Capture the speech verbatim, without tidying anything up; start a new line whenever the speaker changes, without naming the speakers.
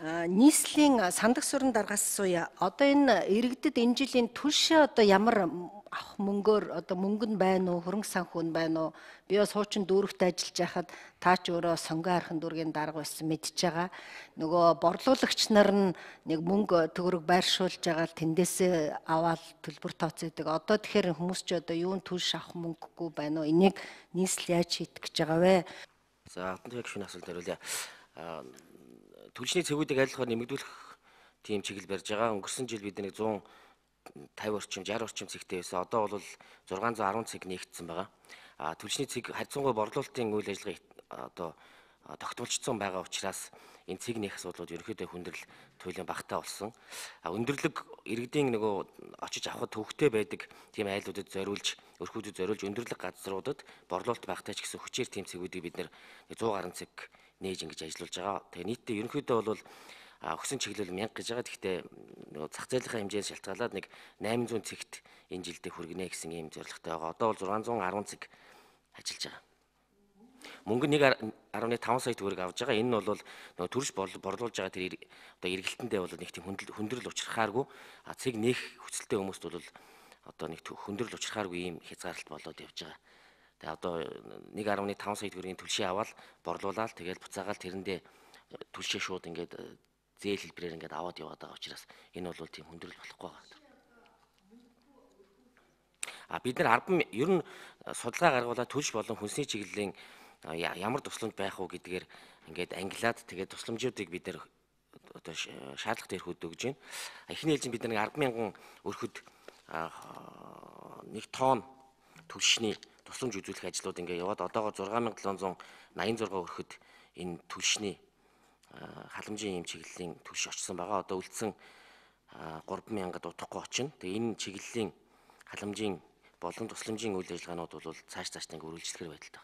нийслэлийн сандаг сүрэн даргаас асууя. Одоо энэ иргэдэд энэ жилийн түлшээ одоо ямар авах мөнгөөр одоо мөнгө нь байна уу, хөрөнгө санхүү нь байна уу? Би бас хуучин дүүрэгт ажиллаж байхад таа ч өөрөө сонгоо архын дүүргийн дарга байсан мэдж байгаа. Нөгөө борлуулагч нар нь нэг мөнгө төгрөг байршуулж байгаа л тэндээсээ аваад төлбөр тооцоодаг. Одоо тэгэхээр хүмүүс ч одоо юун түлш авах мөнгөгүй байна уу? Энийг нийслэл яаж шийдэх гэж байгаа вэ?
За, алтан туяг шүүний асуулт хариулъя. Түлшний цэгүүдийг аль болохоор нэмэгдүүлэх тийм чиглэл барьж байгаа. Өнгөрсөн жил бид нэг зуун тавь орчим, шарх орчим цэгтэй байсан. Одоо бол зургаан зуун арван цэг нээгдсэн байгаа. А түлшний цэг харьцангуй борлуулалтын үйл ажиллагаа одоо тогтмолцсон байгаа учраас энэ цэг нээх асуудлууд ерөнхийдөө хүндрэл туйлын багтаа болсон. А өндөрлөг иргэдийн нөгөө очиж авахд төвөгтэй байдаг тийм айлуудад зориулж, өрхүүдэд зориулж өндөрлөг газруудад борлуулалт багтаач гэсэн хүчээр тийм цэгүүдийг бид нэр зуун гаруй цэг нээж ингэж ажиллуулж байгаа. Тэгээ нийтдээ ерөнхийдөө бол өгсөн чиглэл мянга гэж байгаа. Гэхдээ нөгөө зах зээлийнхаа хэмжээс шалтгаалаад нэг найман зуун цэгт энэ жилдээ хүргэнэ гэсэн ийм зорилготой байгаа. Одоо бол зургаан зуун арван цэг ажиллаж байгаа. Мөнгө нэг арван таван сая төгрөг авж байгаа. Энэ нь бол нөгөө төрш борлуулж байгаа тэр одоо эргэлтэндээ бол нэг тийм хүндрэл учрахааргүй. А цэг нээх хүсэлтэй хүмүүст бол одоо нэг хүндрэл учрахааргүй ийм хязгаарлалт болоод явж байгаа. Тэгээ одоо нэг арван таван сая төгрөгийн түлшээ аваад борлуулаад тэгээд буцаагаал тэрэндээ түлшээ шууд ингээд зээл хэлбэрээр ингээд аваад яваад байгаа учраас энэ бол тийм хүндрэл болохгүй байгаа. А бид нар албан ер нь судалгаа гаргуулаад түлш болон хүнсний чиглэлийн ямар тусламж байх уу гэдгээр ингээд ангилаад тэгээд тусламжуудыг бид нар одоо шаардлагатай өрхөд өгж байна. Эхний ээлжинд бид нар албан мянган өрхөд нэг тонн түлшний тусламж үзүүлэх ажлууд ингээд яваад одоогоор зургаан мянга долоон зуун найман зургаа өрхөд энэ түлшний халамжийн юм чиглэлийн түлш очсон байгаа. Одоо үлдсэн гурван мянгад утгагүй очино. Тэгээ энэ чиглэлийн халамжийн болон тусламжийн үйл ажиллагаанууд бол цааш цааш нэг үргэлжлэхэр байдалтай.